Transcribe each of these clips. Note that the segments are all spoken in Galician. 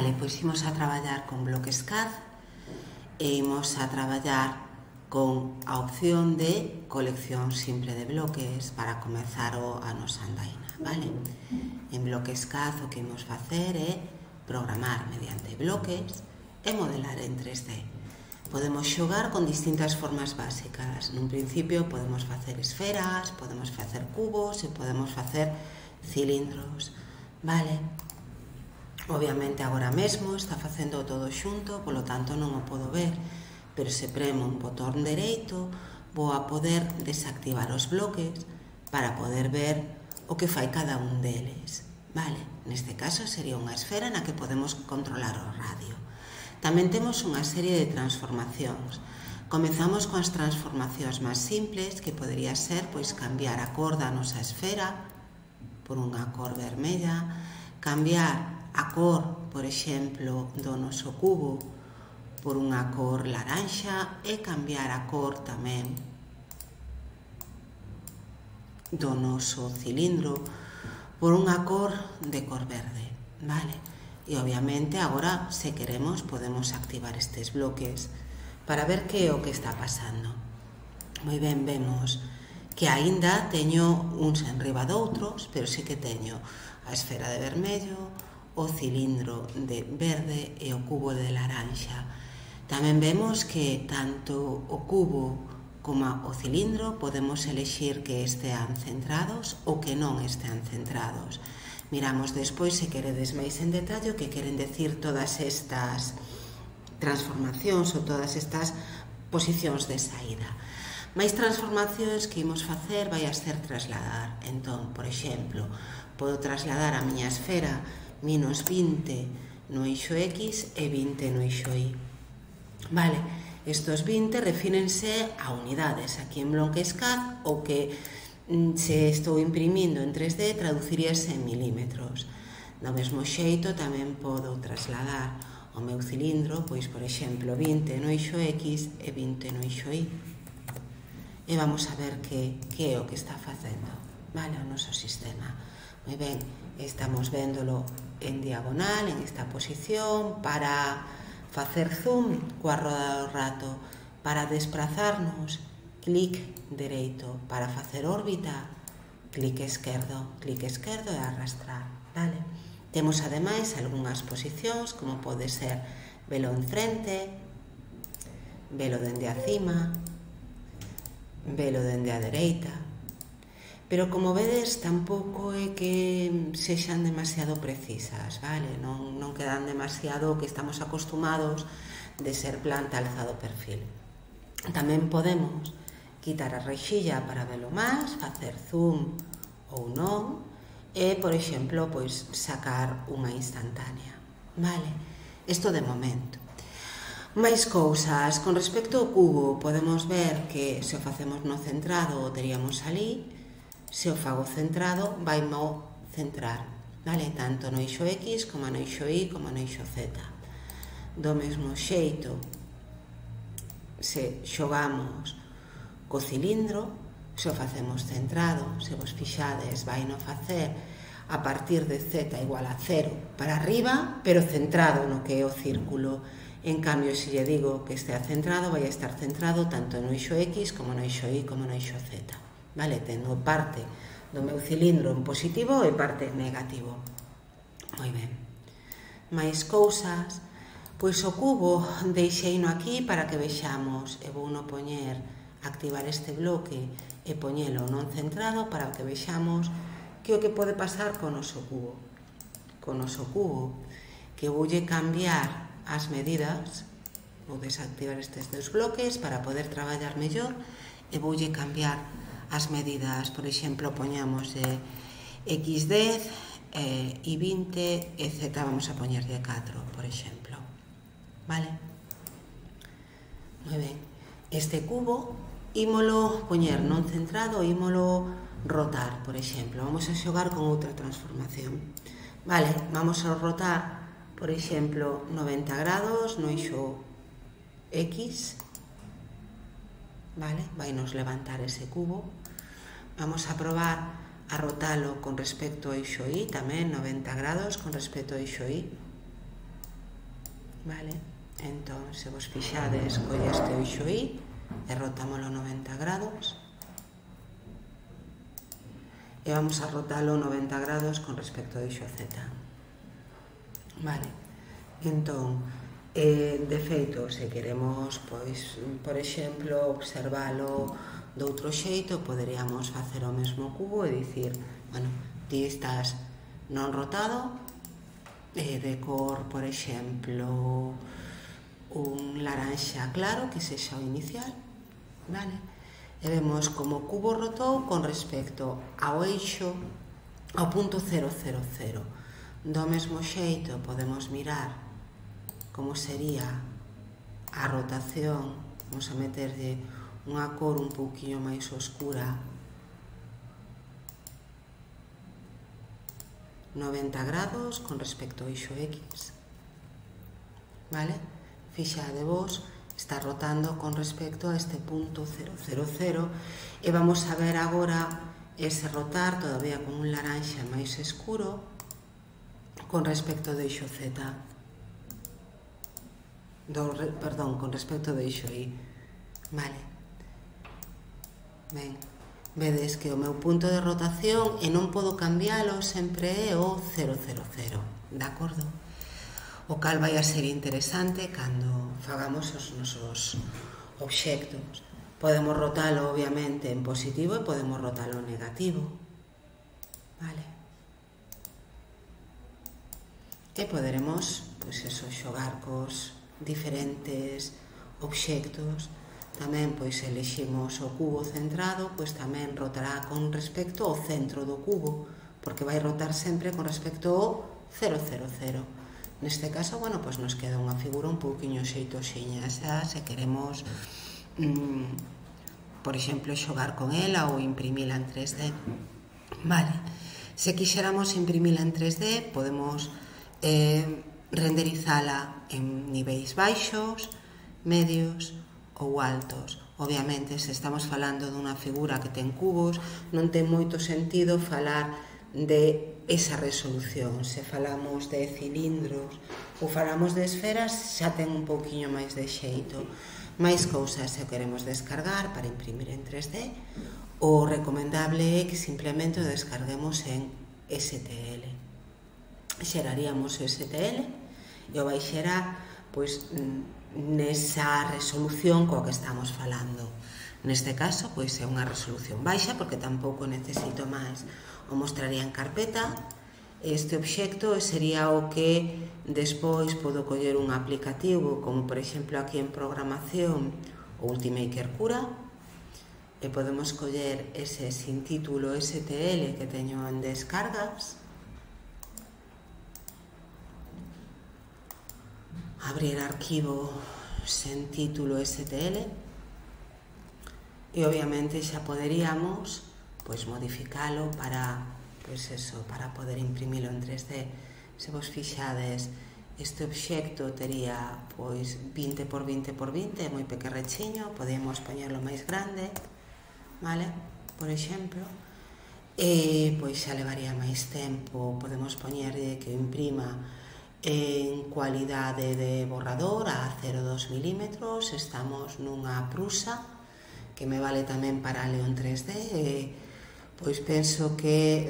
Vale, pois imos a traballar con bloques CAD e imos a traballar con a opción de colección simple de bloques para comezar a nosa andaina, vale? En bloques CAD o que imos facer é programar mediante bloques e modelar en 3D. Podemos xogar con distintas formas básicas. Nun principio podemos facer esferas, podemos facer cubos e podemos facer cilindros, vale? Obviamente agora mesmo está facendo todo xunto, polo tanto non o podo ver, pero se premo un botón dereito vou a poder desactivar os bloques para poder ver o que fai cada un deles, vale? Neste caso sería unha esfera na que podemos controlar o radio. Tamén temos unha serie de transformacións. Comezamos coas transformacións máis simples, que podería ser pois cambiar a cor da nosa esfera por unha cor vermella, cambiar a cor, por exemplo, do noso cubo por unha cor laranxa e cambiar a cor tamén do noso cilindro por unha cor de cor verde, vale? E obviamente agora, se queremos, podemos activar estes bloques para ver que é o que está pasando. Moi ben, vemos que aínda teño uns enriba doutros, pero sí que teño a esfera de vermello, o cilindro de verde e o cubo de laranxa. Tamén vemos que tanto o cubo como o cilindro podemos elexir que estean centrados ou que non estean centrados. Miramos despois, se queredes máis en detalle, o que queren decir todas estas transformacións ou todas estas posicións de saída. Máis transformacións que imos facer vai a ser trasladar. Entón, por exemplo, podo trasladar a miña esfera menos 20 no eixo X e 20 no eixo Y. Vale, estos 20 refírense a unidades. Aquí en bloques CAD, o que se estou imprimindo en 3D traduciríase en milímetros. Do mesmo xeito tamén podo trasladar o meu cilindro, pois, por exemplo, 20 no eixo X e 20 no eixo Y. E vamos a ver que é o que está facendo, vale, o noso sistema. Moi ben, estamos véndolo en diagonal, en esta posición, para facer zoom coa roda do rato, para desplazarnos, clic dereito, para facer órbita, clic esquerdo e arrastrar, vale? Temos ademais algunhas posicións, como pode ser velo en frente, velo dende a cima, velo dende a dereita. Pero, como vedes, tampouco é que sexan demasiado precisas, vale? Non quedan demasiado que estamos acostumados de ser planta alzado perfil. Tamén podemos quitar a rexilla para velo máis, facer zoom ou non, e, por exemplo, pois sacar unha instantánea, vale? Isto de momento. Máis cousas. Con respecto ao cubo, podemos ver que se o facemos no centrado o teríamos ali. Se o fago centrado, vai mo centrar, vale? Tanto no eixo X, como no eixo Y, como no eixo Z. Do mesmo xeito, se xogamos co cilindro, se o facemos centrado, se vos fixades, vai no facer a partir de Z igual a 0 para arriba, pero centrado no que é o círculo. En cambio, se lle digo que estea centrado, vai a estar centrado tanto no eixo X, como no eixo Y, como no eixo Z. Vale, tendo parte do meu cilindro en positivo e parte en negativo. Moi ben. Mais cousas. Pois o cubo deixeino aquí para que vexamos, e vou no poñer, activar este bloque e poñelo non centrado para que vexamos que o que pode pasar co noso cubo. Co noso cubo, que voulle cambiar as medidas, vou desactivar estes dos bloques para poder traballar mellor, e voulle cambiar as medidas, por exemplo, poñamos X10 e 20 e Z vamos a poñer de 4, por exemplo, vale? Moi ben, este cubo ímolo poñer non centrado, ímolo rotar, por exemplo. Vamos a xogar con outra transformación, vale? Vamos a rotar, por exemplo, 90 grados no eixo X, vale? Vai nos levantar ese cubo. Vamos a probar a rotalo con respecto ao eixo Y, tamén 90 grados con respecto ao eixo Y. vale? Entón, se vos fixades, colle este eixo I e rotámoslo 90 grados e vamos a rotalo 90 grados con respecto ao eixo Z, vale? Entón, de feito, se queremos, pois, por exemplo, observalo de outro xeito, poderíamos facer o mesmo cubo e dicir, bueno, ti estás non rotado, de cor, por exemplo, un laranxa claro, que sexa o inicial, vale? E vemos como o cubo rotou con respecto ao eixo, ao punto 0, 0, 0. Do mesmo xeito podemos mirar como sería a rotación. Vamos a meterlle unha cor un pouquinho máis oscura, 90 grados con respecto ao eixo X, vale? Fixadevos, está rotando con respecto a este punto 0, 0, 0 e vamos a ver agora ese rotar todavía con un laranxa máis escuro con respecto do eixo Z, perdón, con respecto do eixo Y, vale? Ben, vedes que o meu punto de rotación e non podo cambiálo, sempre é o 0, 0, 0, de acordo? O cal vai a ser interesante cando fagamos os nosos obxectos. Podemos rotalo, obviamente, en positivo e podemos rotalo en negativo, vale? E poderemos, pois eso, xogar cos diferentes obxectos. Tamén, pois, eleximos o cubo centrado, pois tamén rotará con respecto ao centro do cubo, porque vai rotar sempre con respecto ao 0, 0, 0. Neste caso, bueno, pois nos queda unha figura un pouquiño xeitoxiña, xa se queremos, por exemplo, xogar con ela ou imprimila en 3D. Vale, se quixéramos imprimila en 3D, podemos renderizala en niveis baixos, medios ou altos. Obviamente, se estamos falando dunha figura que ten cubos, non ten moito sentido falar de esa resolución. Se falamos de cilindros ou falamos de esferas, xa ten un pouquiño máis de xeito. Máis cousas se queremos descargar para imprimir en 3D, o recomendable é que simplemente o descarguemos en STL. Xeraríamos STL e o vai xerar, pois, nesa resolución coa que estamos falando. Neste caso, pois, é unha resolución baixa, porque tampouco necesito máis. O mostraría en carpeta. Este obxecto sería o que despois podo coller un aplicativo, como por exemplo aquí en programación o Ultimaker Cura, e podemos coller ese sin título STL que teño en descargas, abrir arquivo sen título STL e obviamente xa poderíamos, pois, modificalo para, pois eso, para poder imprimilo en 3D. Se vos fixades, este obxecto tería, pois, 20 por 20 por 20, moi pequerrechiño, podemos poñerlo máis grande, vale? Por exemplo, e pois xa levaría máis tempo. Podemos poñerlle que o imprima en cualidade de borrador a 0,2 milímetros. Estamos nunha prusa que me vale tamén para leo en 3D e pois penso que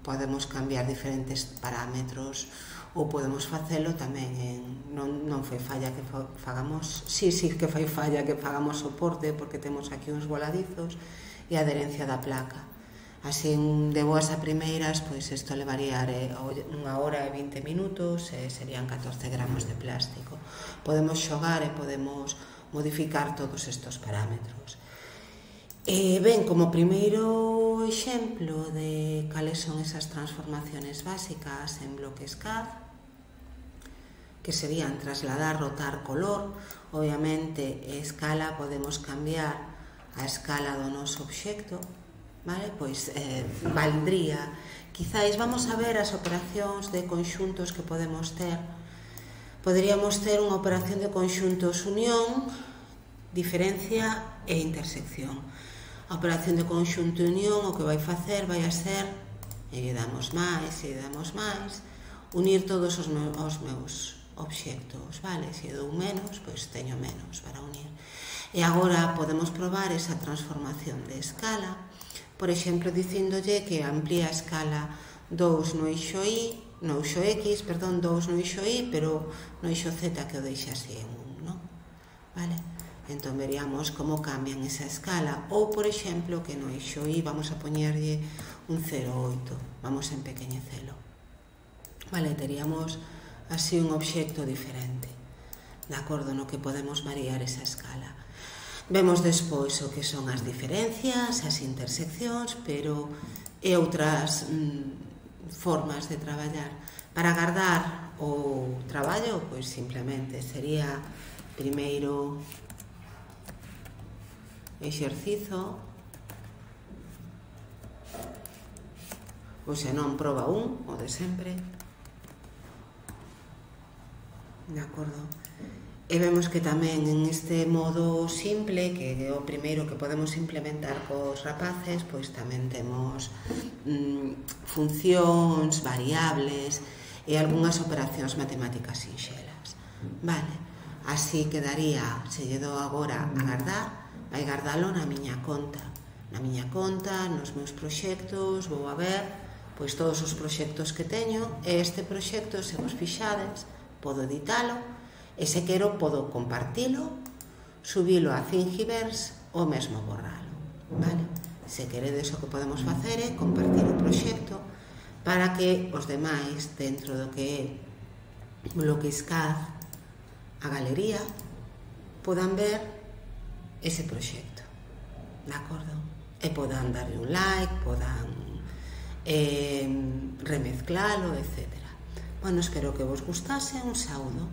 podemos cambiar diferentes parámetros ou podemos facelo tamén en... Non foi falla que fagamos... Sí que foi falla que fagamos soporte, porque temos aquí uns voladizos e a adherencia da placa. Así, de boas a primeiras, pois isto levaría 1 hora e 20 minutos e serían 14 gramos de plástico. Podemos xogar e podemos modificar todos estes parámetros. Ben, como primeiro exemplo de cales son esas transformaciones básicas en bloques CAD, que serían trasladar, rotar, color, obviamente, escala, podemos cambiar a escala do noso obxecto, vale? Pois valdría, quizáis, vamos a ver as operacións de conxuntos que podemos ter. Poderíamos ter unha operación de conxuntos unión, diferencia e intersección. A operación de conxunto unión o que vai facer vai a ser, e lle damos máis, unir todos os meus obxectos, vale? Se dou menos, pois teño menos para unir. E agora podemos probar esa transformación de escala, por exemplo, dicíndolle que amplía a escala 2 no eixo y, no eixo x, perdón, 2 no eixo y, pero no eixo z que o deixa así en 1, non? Vale? Entón veríamos como cambian esa escala, ou, por exemplo, que no eixo y vamos a poñerlle un 0,8, vamos a empequeñecelo. Vale, teríamos así un obxecto diferente, de acordo, no que podemos variar esa escala. Vemos despois o que son as diferencias, as interseccións, pero e outras formas de traballar. Para agardar o traballo, pois simplemente sería primeiro exercizo, ou se non, proba 1, o de sempre. De acordo? E vemos que tamén en este modo simple, que é o primeiro que podemos implementar cos rapaces, pois tamén temos funcións, variables e algunhas operacións matemáticas sinxelas. Vale, así quedaría, se lle dou agora a gardar, vai gardalo na miña conta. Na miña conta, nos meus proxectos, vou a ver pois todos os proxectos que teño, e este proxecto, se vos fixades, podo editalo, e se quero podo compartilo, subilo a Thingiverse ou mesmo borralo, vale? Se queredes, o que podemos facer é compartir o proxecto para que os demais, dentro do que é Bloquiscad, a galería, podan ver ese proxecto, de acordo? E podan darle un like, podan remezclalo, etc. Bueno, espero que vos gustase, un saúdo.